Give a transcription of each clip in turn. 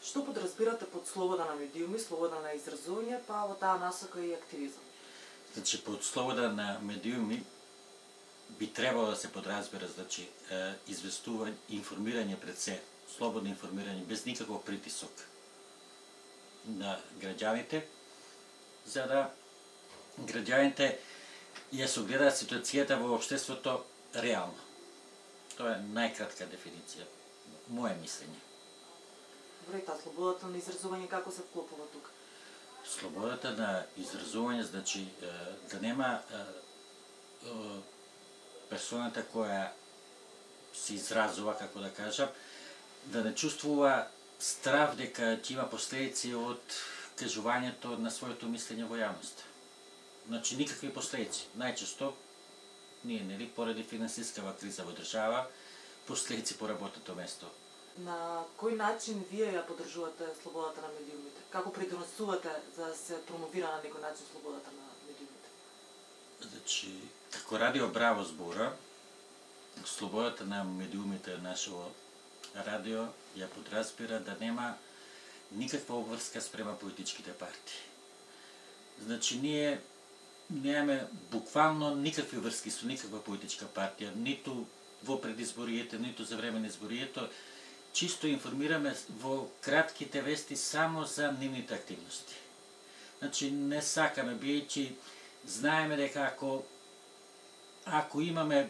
Што подразбирате под слобода на медиуми, слобода на изразување, па во таа насока и активизам? Значи, под слобода на медиуми би требало да се подразбира, значи, известување, информирање пред се, слободно информирање, без никаков притисок на граѓаните, за да граѓаните ја согледаат ситуацијата во општеството реално. Тоа е најкратка дефиниција, моје мислење. Добре, таа слободата на изразување како се вклопува тука? Слободата на изразување, значи, да нема персоната која се изразува, како да кажам, да не чувствува страв дека ќе има последици од кажувањето на своето мислење во јавноста. Значи, никакви последици. Најчесто, ние, нели, поради финансискава криза во држава, последици по работното место. На кој начин вие ја поддржувате слободата на медиумите? Како придонесувате за да се промовира на некој начин слободата на медиумите? Значи, како Радио Браво збора, слободата на медиумите нашето радио ја подразбира да нема никаква обврска спрема политичките партии. Значи, ние немаме буквално никакви врски со никаква политичка партија, ниту во предизбориите, ниту за време на изборието. Чисто информираме во кратките вести само за нивните активности. Значи, не сакаме, бијќи знаеме дека ако имаме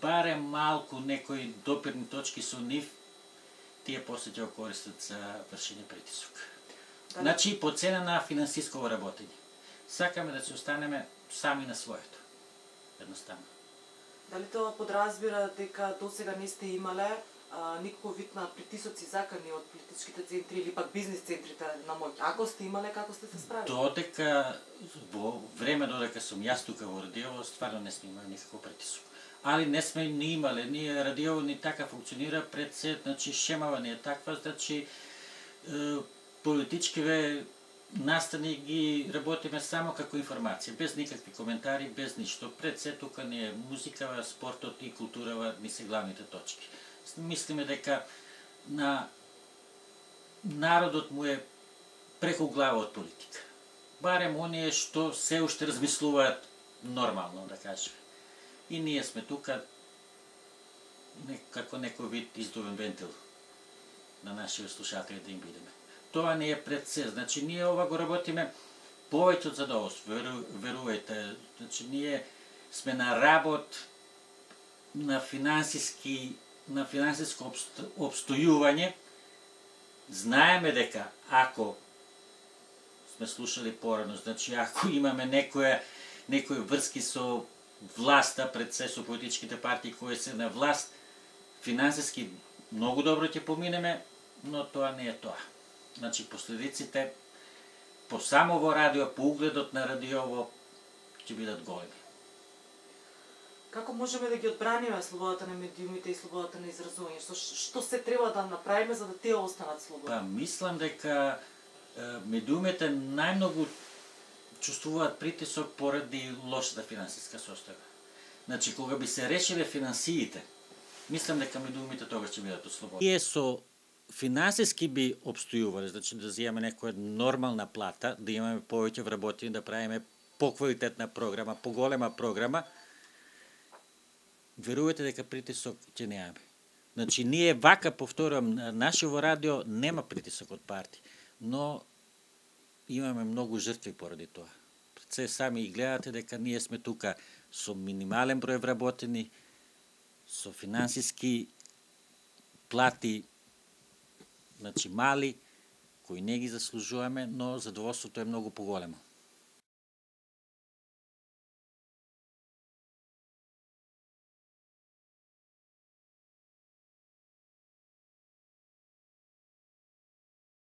барем малку некои допирни точки со нив, тие после ќе го користат за вршење притисок. Значи, по цена на финансиско работење. Сакаме да се останеме сами на своето. Едноставно. Дали тоа подразбира дека досега не сте имале никаков вид на притисоци закани од политичките центри или пак бизнис центрите на моќ? Ако сте имале, како сте се справили? Додека, во време додека сум јас тука во радио, стварно не сме имали никаков притисок. Али не сме ни имале, ние радио ни така функционира пред се, значи шемава не е таква, значи политичкиве настани ги работиме само како информација, без никакви коментари, без ништо. Пред се тука не е музикава, спортот и културава ни се главните точки. Мислиме дека на народот му е преку глава од политика. Барем оние што се уште размислуваат нормално, да кажеме. И ние сме тука како некој вид издувен вентил на нашите слушатели да им бидеме. Тоа не е пред се. Значи, ние ова го работиме повеќе од задоволство, верувајте. Значи, ние сме на работ на финансиско обстојување. Знаеме дека ако сме слушали порано, значи ако имаме некои врски со власта, пред се со политичките партии кои се на власт, финансиски многу добро ќе поминеме, но тоа не е тоа. Значи, последиците по само во радио, по угледот на радиово, ќе бидат големи. Како можеме да ги одбраниме слободата на медиумите и слободата на изразување? Што се треба да направиме за да тие останат слободни? Па, мислам дека медиумите најмногу чувствуваат притисок поради лошата финансиска состојба. Значи, кога би се решиле финансиите, мислам дека медиумите тогаш ќе бидат ослободени. Ние со финансиски би обстојувале, значи да земеме некоја нормална плата, да имаме повеќе вработени, да правиме поквалитетна програма, поголема програма, верувате дека притисок ќе немаме. Значи, ние вака, повторувам, нашето радио нема притисок од партии, но имаме многу жртви поради тоа. Пред се сами и гледате дека ние сме тука со минимален број вработени, со финансиски плати, значи мали, кои не ги заслужуваме, но задоволството е многу поголемо.